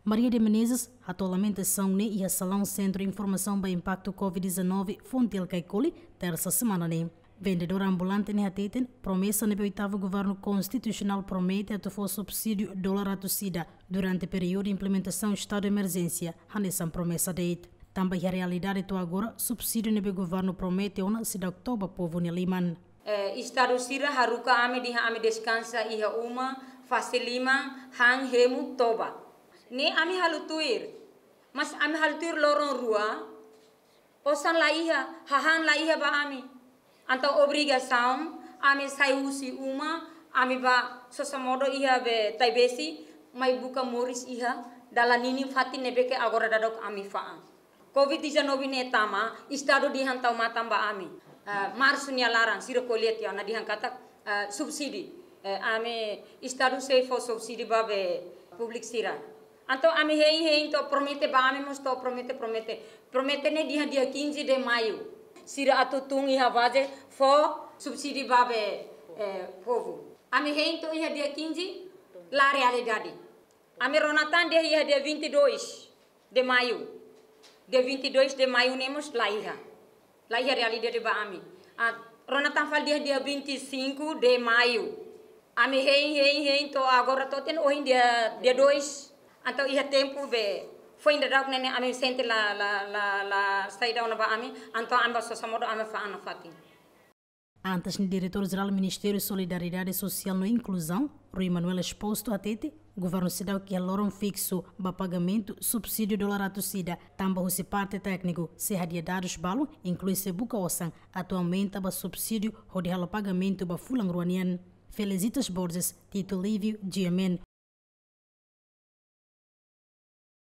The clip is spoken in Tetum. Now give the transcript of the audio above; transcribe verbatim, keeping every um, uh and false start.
Maria de Menezes hato'o lamentasaun ne'e iha salaun Sentru Informasaun ba Impaktu COVID-19 Fontiel Caicoli, tersa semana ne'e. Vendedora ambulante ne'e hateten promesa ne'ebé oitavu governu konstitusionál promete atu fó subsídiu dolar atus ida durante períodu implementasaun estadu de emerjénsia, hanesan promesa de'it. Tanba iha realidade to'o agora subsídiu ne'ebé governu promete ona seidauk to'o ba povu nia liman. Eh, estadu sira haruka ami dehan ami deskansa iha uma, fase liman, han, hemu, toba. Ne'e ami halo tuir. Mas ami halo tuir loron rua, osan la iha, hahán la iha ba ami. Entaun obrigasaun ami sai husi uma, ami bá sosa modo iha be Taibesi, mai buka moris iha dala ninin fatin ne'ebé ke agora daudauk ami fa'an. COVID-19 ne'e tama, estadu dehan tau matan ba ami. Ah, marsu nia laran, sira ko'alia tiha ona dehan katak, ah, subsídiu. Eh, ami estadu sei fó subsídiu ba be públiku sira. Entaun ami hein, hein, to'o promete ba ami mós to'o promete, promete. Promete ne'e dehan dia quinze de maio. Sira atu tun iha baze fó subsídiu ba be, eh, povu. Ami hein to'o iha dia quinze, la realidade. Ami rona tan dehan iha dia vinte e dois de maio. Dia vinte e dois de maio ne'e mós la iha. La iha realidade ba ami. Ah, rona tan fali dehan dia vinte e cinco de maio. Ami hein, hein, hein, to'o agora to'o ohin dia, dia dois. Entaun iha tempu be foin daudauk ne'e ne'e ami sente la, la, la, la saida ona ba ami. Entaun ami bá sosa modo ami fa'an nafatin. Antes ne'e Diretór Jerál Ministériu Solidariedade Sosiál no Inkluzaun, Rui Manuel Exposto hatete, governu seidauk iha loron fiksu ba pagamentu subsídiu dolar atus ida, tanba husi parte tékniku sei hadi'a dadus balu, inklui sei buka osan atu aumenta ba subsídiu hodi halo pagamentu ba fulan rua nian. Felicitas Borges, Tito Livio, G M N,